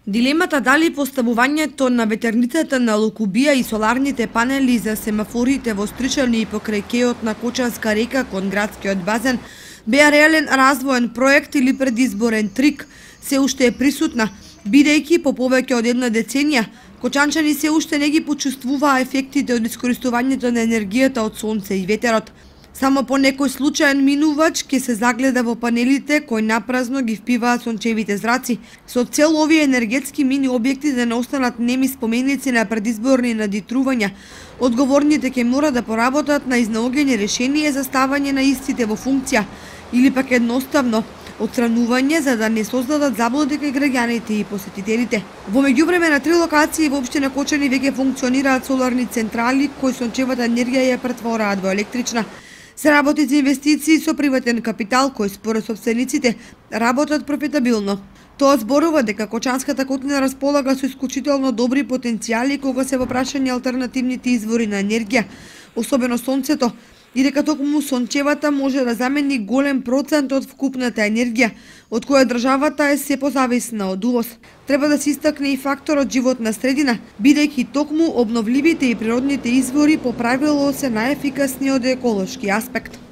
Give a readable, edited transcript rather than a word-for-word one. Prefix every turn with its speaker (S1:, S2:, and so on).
S1: Дилемата дали поставувањето на ветерницата на Лукубија и соларните панели за семафорите во Стричани и покрај кејот на Кочанска река кон градскиот базен беа реален развоен проект или предизборен трик, се уште е присутна, бидејќи по повеќе од една деценија кочанчани се уште не ги почувствуваа ефектите од искористувањето на енергијата од сонце и ветерот. Само по некој случаен минувач ќе се загледа во панелите кои напразно ги впиваат сончевите зраци, со цел овие енергетски мини објекти да не останат неми споменици на предизборни надитрувања. Одговорните ќе мора да поработат на изнаоѓање решение за ставање на истите во функција или пак едноставно отстранување за да не создадат заблуди кај граѓаните и посетителите. Во меѓувреме на 3 локации во општина Кочани веќе функционираат соларни централи кои сончевата енергија ја претвораат во електрична. Се работи за инвестиции со приватен капитал кои според собствениците работат профитабилно. Тоа зборува дека Кочанската котлина располага со исклучително добри потенцијали кога се во прашање алтернативните извори на енергија, особено сонцето, и дека токму сончевата може да замени голем процент од вкупната енергија, од која државата е се позависна од увоз. Треба да се истакне и факторот животна средина, бидејќи токму обновливите и природните извори по правило се најефикасни од еколошки аспект.